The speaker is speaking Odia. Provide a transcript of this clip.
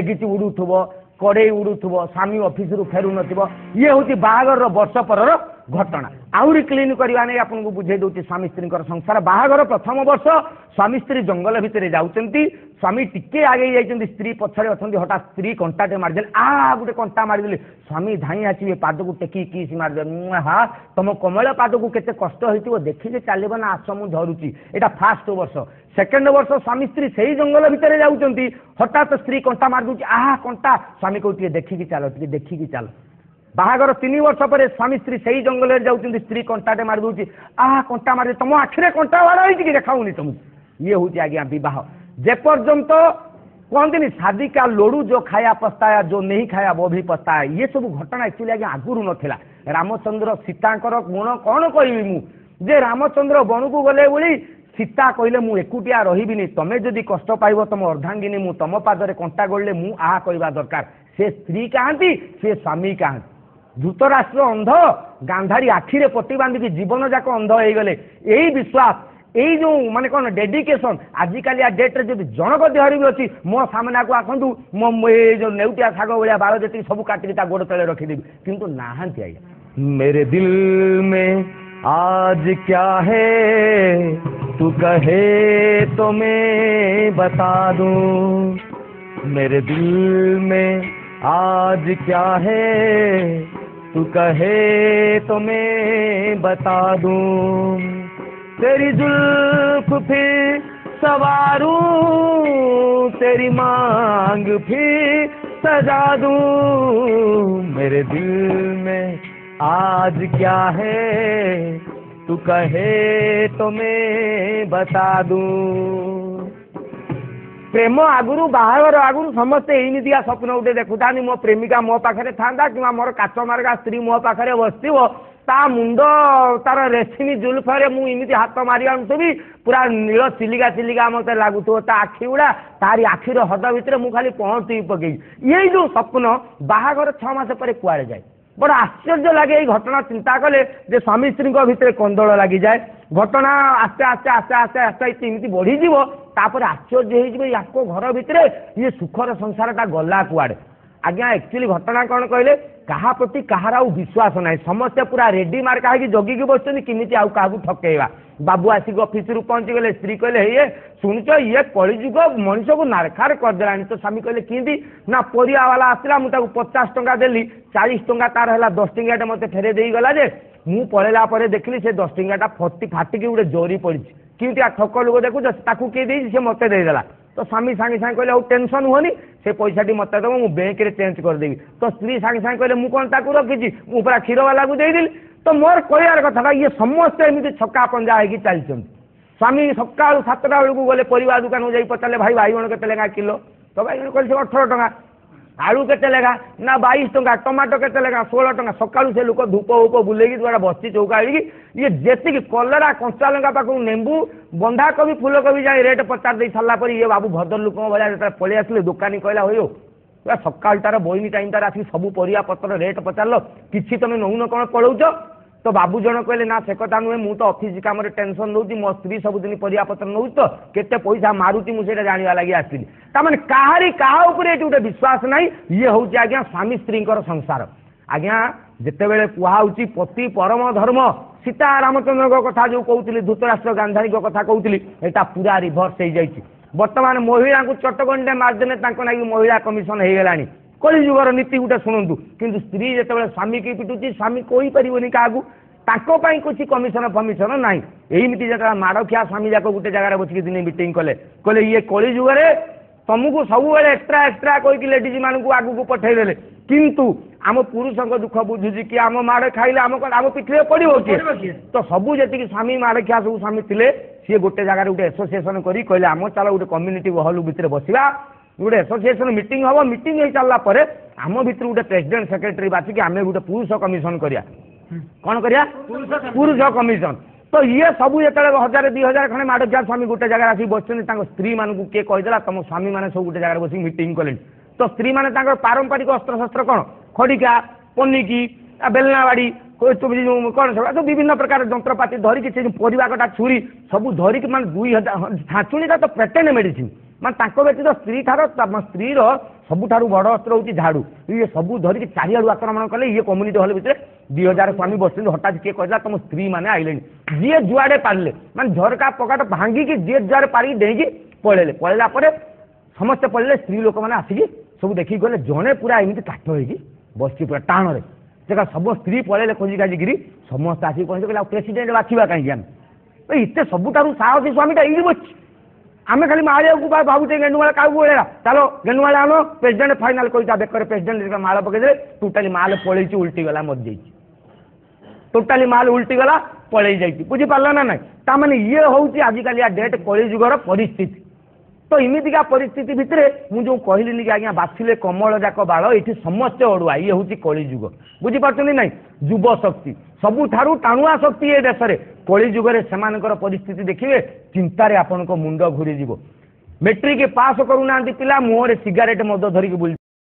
କିଛି ଉଡ଼ୁଥିବ, କଡ଼େଇ ଉଡ଼ୁଥିବ, ସ୍ୱାମୀ ଅଫିସରୁ ଫେରୁନଥିବ। ଇଏ ହେଉଛି ବାହାଘରର ବର୍ଷ ପରର ଘଟଣା। ଆହୁରି କ୍ଲିନ୍ କରିବା ନେଇ ଆପଣଙ୍କୁ ବୁଝେଇ ଦେଉଛି ସ୍ୱାମୀ ସ୍ତ୍ରୀଙ୍କର ସଂସାର। ବାହାଘର ପ୍ରଥମ ବର୍ଷ ସ୍ୱାମୀ ସ୍ତ୍ରୀ ଜଙ୍ଗଲ ଭିତରେ ଯାଉଛନ୍ତି। ସ୍ୱାମୀ ଟିକେ ଆଗେଇ ଯାଇଛନ୍ତି, ସ୍ତ୍ରୀ ପଛରେ ଅଛନ୍ତି। ହଠାତ୍ ସ୍ତ୍ରୀ କଣ୍ଟାଟେ ମାରିଦେଲେ, ଆ ଗୋଟେ କଣ୍ଟା ମାରିଦେଲେ। ସ୍ୱାମୀ ଧାଇଁ ଆସିବେ, ପାଦକୁ ଟେକି କିସ୍ ମାରିଦେବେ। ହା, ତମ କମଳ ପାଦକୁ କେତେ କଷ୍ଟ ହେଇଥିବ, ଦେଖିକି ଚାଲିବ ନା, ଆସ ମୁଁ ଧରୁଛି। ଏଇଟା ଫାଷ୍ଟ ବର୍ଷ। ସେକେଣ୍ଡ ବର୍ଷ ସ୍ୱାମୀ ସ୍ତ୍ରୀ ସେଇ ଜଙ୍ଗଲ ଭିତରେ ଯାଉଛନ୍ତି। ହଠାତ୍ ସ୍ତ୍ରୀ କଣ୍ଟା ମାରିଦେଉଛି, ଆହା କଣ୍ଟା। ସ୍ୱାମୀ କହୁଛି, ଟିକେ ଦେଖିକି ଚାଲ, ଟିକେ ଦେଖିକି ଚାଲ। ବାହାଘର 3 ବର୍ଷ ପରେ ସ୍ୱାମୀ ସ୍ତ୍ରୀ ସେଇ ଜଙ୍ଗଲରେ ଯାଉଛନ୍ତି। ସ୍ତ୍ରୀ କଣ୍ଟାଟେ ମାରି ଦେଉଛି, ଆହା କଣ୍ଟା ମାରି, ତମ ଆଖିରେ କଣ୍ଟା ବାଡ଼ ହେଇଛି କି, ଦେଖାଉନି ତମକୁ? ଇଏ ହେଉଛି ଆଜ୍ଞା ବିବାହ। ଯେପର୍ଯ୍ୟନ୍ତ କୁହନ୍ତିନି, शादी का लड्डू जो खाया पछताया, जो नहीं खाया वो भी पछताया। ଇଏ ସବୁ ଘଟଣା ଆକ୍ଚୁଆଲି ଆଜ୍ଞା ଆଗରୁ ନଥିଲା। ରାମଚନ୍ଦ୍ର ସୀତାଙ୍କର ଗୁଣ କ'ଣ କହିବି ମୁଁ ଯେ, ରାମଚନ୍ଦ୍ର ବଣକୁ ଗଲେ ବୋଲି ସୀତା କହିଲେ, ମୁଁ ଏକୁଟିଆ ରହିବିନି, ତମେ ଯଦି କଷ୍ଟ ପାଇବ ତମ ଅର୍ଦ୍ଧାଙ୍ଗିନୀ ମୁଁ, ତମ ପାଦରେ କଣ୍ଟା ଗଳିଲେ ମୁଁ ଆହା କହିବା ଦରକାର। ସେ ସ୍ତ୍ରୀ କାହାନ୍ତି, ସେ ସ୍ୱାମୀ କାହାନ୍ତି? ଧୃତରାଷ୍ଟ୍ର ଅନ୍ଧ, ଗାନ୍ଧାରୀ ଆଖିରେ ପଟି ବାନ୍ଧିକି ଜୀବନ ଯାକ ଅନ୍ଧ ହେଇଗଲେ। ଏଇ ବିଶ୍ୱାସ, ଏଇ ଯେଉଁ ମାନେ କ'ଣ ଡେଡିକେସନ୍, ଆଜିକାଲିଆ ଡେଟ୍ରେ ଯଦି ଜଣକ ଦେହରେ ବି ଅଛି, ମୋ ସାମ୍ନାକୁ ଆସନ୍ତୁ, ମୋ ଏଇ ଯେଉଁ ନେଉଟିଆ ଶାଗ ଭଳିଆ ବାଳ ଯେତିକି ସବୁ କାଟିକି ତା ଗୋଡ଼ ତଳେ ରଖିଦେବି। କିନ୍ତୁ ନାହାନ୍ତି ଆଜ୍ଞା। मेरे दिल में आज क्या है, तू कहे तो मैं बता दूं। मेरे दिल में आज क्या है, तू कहे तो मैं बता दूं। तेरी जुल्फ फिर सवारूं, तेरी मांग फिर सजा दूं। मेरे दिल में आज क्या है, तू कहे तो मैं बता दूं। ପ୍ରେମ ଆଗରୁ, ବାହାଘର ଆଗରୁ ସମସ୍ତେ ଏଇମିତିଆ ସ୍ୱପ୍ନ ଗୋଟେ ଦେଖୁଥାନ୍ତି, ମୋ ପ୍ରେମିକା ମୋ ପାଖରେ ଥାନ୍ତା କିମ୍ବା ମୋର କାଚ ମାର୍କା ସ୍ତ୍ରୀ ମୋ ପାଖରେ ବସିଥିବ, ତା ମୁଣ୍ଡ ତାର ରେଶମୀ ଜୁଲଫରେ ମୁଁ ଏମିତି ହାତ ମାରି ଆଣୁଥିବି, ପୁରା ନୀଳ ଚିଲିକା ଚିଲିକା ମୋତେ ଲାଗୁଥିବ ତା ଆଖି ଗୁଡ଼ା, ତାରି ଆଖିର ହ୍ରଦ ଭିତରେ ମୁଁ ଖାଲି ପହଁରୁଥିବି ପକେଇକି। ଏଇ ଯେଉଁ ସ୍ୱପ୍ନ ବାହାଘର 6 ମାସ ପରେ କୁଆଡ଼େ ଯାଏ? ବଡ଼ ଆଶ୍ଚର୍ଯ୍ୟ ଲାଗେ ଏଇ ଘଟଣା ଚିନ୍ତା କଲେ ଯେ ସ୍ୱାମୀ ସ୍ତ୍ରୀଙ୍କ ଭିତରେ କନ୍ଦଳ ଲାଗିଯାଏ। ଘଟଣା ଆସ୍ତେ ଆସ୍ତେ ଆସ୍ତେ ଆସ୍ତେ ଆସ୍ତେ ଏମିତି ବଢ଼ିଯିବ, ତାପରେ ଆଶ୍ଚର୍ଯ୍ୟ ହେଇଯିବେ ୟାଙ୍କ ଘର ଭିତରେ ଇଏ ସୁଖର ସଂସାରଟା ଗଲା କୁଆଡ଼େ? ଆଜ୍ଞା, ଆକ୍ଚୁଆଲି ଘଟଣା କ'ଣ କହିଲେ, କାହା ପ୍ରତି କାହାର ଆଉ ବିଶ୍ୱାସ ନାହିଁ। ସମସ୍ତେ ପୁରା ରେଡି ମାର୍କା ହେଇକି ଜଗିକି ବସିଛନ୍ତି କେମିତି ଆଉ କାହାକୁ ଠକେଇବା। ବାବୁ ଆସିକି ଅଫିସରୁ ପହଞ୍ଚିଗଲେ। ସ୍ତ୍ରୀ କହିଲେ, ହେଇ ଶୁଣୁଛ, ଇଏ କଳିଯୁଗ ମଣିଷକୁ ନାରଖାର କରିଦେଲାଣି। ତ ସ୍ୱାମୀ କହିଲେ, କେମିତି? ନା, ପରିବା ବାଲା ଆସିଲା, ମୁଁ ତାକୁ 50 ଟଙ୍କା ଦେଲି, 40 ଟଙ୍କା ତାର ହେଲା, 10 ଟଙ୍କିଆଟା ମୋତେ ଫେରେଇ ଦେଇଗଲା ଯେ ମୁଁ ପଳେଇଲା ପରେ ଦେଖିଲି ସେ 10 ଟଙ୍କିଆଟା ଫଟି ଫାଟିକି ଗୋଟେ ଜରି ପଡ଼ିଛି। କେମିତି ଠକ ଲୋକ ଦେଖୁଛ, ତାକୁ କିଏ ଦେଇଛି, ସେ ମୋତେ ଦେଇଦେଲା। ତ ସ୍ୱାମୀ ସାଙ୍ଗେ ସାଙ୍ଗେ କହିଲେ, ଆଉ ଟେନସନ୍ ହୁଅନି, ସେ ପଇସାଟି ମୋତେ ଦେବ, ମୁଁ ବ୍ୟାଙ୍କରେ ଚେଞ୍ଜ କରିଦେବି। ତ ସ୍ତ୍ରୀ ସାଙ୍ଗେ ସାଙ୍ଗେ କହିଲେ, ମୁଁ କ'ଣ ତାକୁ ରଖିଛି, ମୁଁ ପୁରା କ୍ଷୀରବାଲାକୁ ଦେଇଦେଲି। ତ ମୋର କହିବାର କଥାଟା, ଇଏ ସମସ୍ତେ ଏମିତି ଛକା ପଞ୍ଜା ହେଇକି ଚାଲିଛନ୍ତି। ସ୍ୱାମୀ ସକାଳୁ 7ଟା ବେଳକୁ ଗଲେ ପରିବା ଦୋକାନକୁ, ଯାଇ ପଚାରିଲେ, ଭାଇ ବାଇଗଣ କେତେ ଲେଖା କିଲୋ? ତ ବାଇଗଣ କହିଲେ ସେ 18 ଟଙ୍କା। ଆଳୁ କେତେ ଲେଖା? ନା, 22 ଟଙ୍କା। ଟମାଟୋ କେତେ ଲେଖା? 16 ଟଙ୍କା। ସକାଳୁ ସେ ଲୋକ ଧୂପ ଉପ ବୁଲେଇକି ଦୁଆଟା ବସିଛି ଚୌକା ହେଇକି। ଇଏ ଯେତିକି କଲରା, କଞ୍ଚା ଲଙ୍କା ପାଖକୁ ନେମ୍ବୁ, ବନ୍ଧାକୋବି, ଫୁଲକୋବି ଯାଇ ରେଟ୍ ପଚାରି ଦେଇ ସାରିଲା ପରେ ଇଏ ବାବୁ ଭଦ୍ରଲୋକଙ୍କ ଭଳିଆ ଯେତେବେଳେ ପଳେଇ ଆସିଲେ, ଦୋକାନୀ କହିଲା, ହୋଇ ପୁରା ସକାଳଟାର ବଇନି ଟାଇମ୍ଟାରେ ଆସିକି ସବୁ ପରିବା ପତ୍ର ରେଟ୍ ପଚାରିଲ, କିଛି ତମେ ନଉନ କ'ଣ ପଳଉଛ? ତ ବାବୁ ଜଣ କହିଲେ, ନା ସେ କଥା ନୁହେଁ, ମୁଁ ତ ଅଫିସ କାମରେ ଟେନସନ୍ ରହୁଛି, ମୋ ସ୍ତ୍ରୀ ସବୁଦିନ ପରିବା ପତ୍ର ନେଉଛି, ତ କେତେ ପଇସା ମାରୁଛି ମୁଁ ସେଇଟା ଜାଣିବା ଲାଗି ଆସିଥିଲି। ତାମାନେ କାହାରି କାହା ଉପରେ ଏଠି ଗୋଟେ ବିଶ୍ୱାସ ନାହିଁ। ଇଏ ହେଉଛି ଆଜ୍ଞା ସ୍ୱାମୀ ସ୍ତ୍ରୀଙ୍କର ସଂସାର। ଆଜ୍ଞା, ଯେତେବେଳେ କୁହାହେଉଛି ପତି ପରମ ଧର୍ମ, ସୀତା ରାମଚନ୍ଦ୍ରଙ୍କ କଥା ଯେଉଁ କହୁଥିଲି, ଧୃତରାଷ୍ଟ୍ର ଗାନ୍ଧାରୀଙ୍କ କଥା କହୁଥିଲି, ଏଇଟା ପୁରା ରିଭର୍ସ ହେଇଯାଇଛି। ବର୍ତ୍ତମାନ ମହିଳାଙ୍କୁ ଚଟକଣିଟେ ମାରିଦେଲେ ତାଙ୍କ ନାଗି ମହିଳା କମିଶନ ହେଇଗଲାଣି। କଳିଯୁଗର ନୀତି ଗୋଟେ ଶୁଣନ୍ତୁ। କିନ୍ତୁ ସ୍ତ୍ରୀ ଯେତେବେଳେ ସ୍ୱାମୀକି ପିଟୁଛି, ସ୍ୱାମୀ କହିପାରିବନି କାହାକୁ, ତାଙ୍କ ପାଇଁ କିଛି କମିଶନ ଫମିଶନ ନାହିଁ। ଏଇମିତି ଯେତେବେଳେ ମାଡ଼ଖିଆ ସ୍ୱାମୀ ଯାକ ଗୋଟେ ଜାଗାରେ ବସିକି ଦିନେ ମିଟିଂ କଲେ, କହିଲେ, ଇଏ କଳିଯୁଗରେ ତମକୁ ସବୁବେଳେ ଏକ୍ସଟ୍ରା ଏକ୍ସଟ୍ରା କହିକି ଲେଡିଜ୍ ମାନଙ୍କୁ ଆଗକୁ ପଠେଇଦେଲେ, କିନ୍ତୁ ଆମ ପୁରୁଷଙ୍କ ଦୁଃଖ ବୁଝୁଛି କି? ଆମ ମାଡ଼ ଖାଇଲେ ଆମ ପିଠିରେ ପଡ଼ିବ କିଏ? ତ ସବୁ ଯେତିକି ସ୍ୱାମୀ ମାଡ଼ଖିଆ ସବୁ ସ୍ୱାମୀ ଥିଲେ, ସିଏ ଗୋଟେ ଜାଗାରେ ଗୋଟେ ଆସୋସିଏସନ କରି କହିଲେ, ଆମ ଚାଲ ଗୋଟେ କମ୍ୟୁନିଟି ହଲ୍ ଭିତରେ ବସିବା, ଗୋଟେ ଆସୋସିଏସନ ମିଟିଂ ହବ। ମିଟିଂ ହେଇ ସାରିଲା ପରେ ଆମ ଭିତରୁ ଗୋଟେ ପ୍ରେସିଡେଣ୍ଟ ସେକ୍ରେଟାରୀ ବାଛିକି ଆମେ ଗୋଟେ ପୁରୁଷ କମିଶନ କରିବା। କ'ଣ କରିବା? ପୁରୁଷ କମିଶନ। ତ ଇଏ ସବୁ ଯେତେବେଳେ 1000 2000 ଖଣ୍ଡେ ମାଡ଼ଖିଆ ସ୍ୱାମୀ ଗୋଟେ ଜାଗାରେ ଆସିକି ବସିଛନ୍ତି, ତାଙ୍କ ସ୍ତ୍ରୀମାନଙ୍କୁ କିଏ କହିଦେଲା, ତମ ସ୍ୱାମୀମାନେ ସବୁ ଗୋଟେ ଜାଗାରେ ବସିକି ମିଟିଂ କଲେଣି। ତ ସ୍ତ୍ରୀମାନେ ତାଙ୍କର ପାରମ୍ପରିକ ଅସ୍ତ୍ରଶସ୍ତ୍ର କ'ଣ, ଖଡ଼ିକା, ପନିକି, ବେଲନା ବାଡ଼ି, କ'ଣ ସବୁ ବିଭିନ୍ନ ପ୍ରକାର ଯନ୍ତ୍ରପାତି ଧରିକି, ସେ ଯେଉଁ ପରିବା କଟା ଛୁରୀ ସବୁ ଧରିକି, ମାନେ 2000 ଛାଞ୍ଚୁଣିଟା ତ ପେଟେଣ୍ଟ ମେଡିସିନ, ମାନେ ତାଙ୍କ ବ୍ୟତୀତ ସ୍ତ୍ରୀ ଠାର ସ୍ତ୍ରୀର ସବୁଠାରୁ ବଡ଼ ଅସ୍ତ୍ର ହେଉଛି ଝାଡ଼ୁ। ଇଏ ସବୁ ଧରିକି ଚାରିଆଡ଼ୁ ଆକ୍ରମଣ କଲେ। ଇଏ କମ୍ୟୁନିଟି ହଲ୍ ଭିତରେ 2000 ସ୍ୱାମୀ ବସିଛନ୍ତି। ହଠାତ୍ କିଏ କହିଲା ତମ ସ୍ତ୍ରୀ ମାନେ ଆଇଲେଣି। ଯିଏ ଯୁଆଡ଼େ ପାରିଲେ, ମାନେ ଝରକା ପକାଟ ଭାଙ୍ଗିକି ଯିଏ ଯୁଆଡ଼େ ପାରିକି ଡେଇଁକି ପଳେଇଲେ। ପଳେଇଲା ପରେ ସମସ୍ତେ ପଳେଇଲେ, ସ୍ତ୍ରୀ ଲୋକମାନେ ଆସିକି ସବୁ ଦେଖିକି ଗଲେ। ଜଣେ ପୁରା ଏମିତି କାଠ ହେଇକି ବସିଛି ପୁରା ଟାଣରେ। ସେ ସବୁ ସ୍ତ୍ରୀ ପଳେଇଲେ ଖୋଜି ଖାଜିକିରି, ସମସ୍ତେ ଆସିକି ପହଞ୍ଚି କହିଲେ ଆଉ ପ୍ରେସିଡେଣ୍ଟ ବାଛିବା କାହିଁକି ଆମେ? ଏତେ ସବୁଠାରୁ ସାହସୀ ସ୍ୱାମୀଟା ଏଇଠି ବସିଛି, ଆମେ ଖାଲି ମାରିବାକୁ ଭାବୁଛେ। ଗେଣ୍ଡୁମାଳ କାହାକୁ ଗୋଳେଇବା, ଚାଲ ଗେଣ୍ଡୁମାଳ ଆଣ, ପ୍ରେସିଡେଣ୍ଟ ଫାଇନାଲ କରି ତା ବେକରେ ପ୍ରେସିଡେଣ୍ଟ ମାଳ ପକେଇଦେଲେ। ଟୋଟାଲି ମାଲ ପଳେଇଛି, ଉଲ୍ଟିଗଲା, ମରିଯାଇଛି। ଟୋଟାଲି ମାଲ ଉଲ୍ଟିଗଲା, ପଳେଇ ଯାଇଛି। ବୁଝିପାରିଲ ନା ନାଇଁ? ତାମାନେ ଇଏ ହେଉଛି ଆଜିକାଲିଆ ଡେଟ୍ କଳି ଯୁଗର ପରିସ୍ଥିତି। ତ ଏମିତିକା ପରିସ୍ଥିତି ଭିତରେ ମୁଁ ଯେଉଁ କହିଲିନି କି ଆଜ୍ଞା ବାଛିଲେ କମଳ ଯାକ ବାଳ, ଏଠି ସମସ୍ତେ ଅଡ଼ୁଆ। ଇଏ ହେଉଛି କଳିଯୁଗ, ବୁଝିପାରୁଛନ୍ତି ନାଇଁ? ଯୁବ ଶକ୍ତି ସବୁଠାରୁ ଟାଣୁଆ ଶକ୍ତି ଏ ଦେଶରେ। କଳିଯୁଗରେ ସେମାନଙ୍କର ପରିସ୍ଥିତି ଦେଖିବେ, ଚିନ୍ତାରେ ଆପଣଙ୍କ ମୁଣ୍ଡ ଘୁରିଯିବ। ମେଟ୍ରିକ ପାସ୍ କରୁନାହାନ୍ତି ପିଲା, ମୁହଁରେ ସିଗାରେଟ୍ ମଦ ଧରିକି ବୁଲି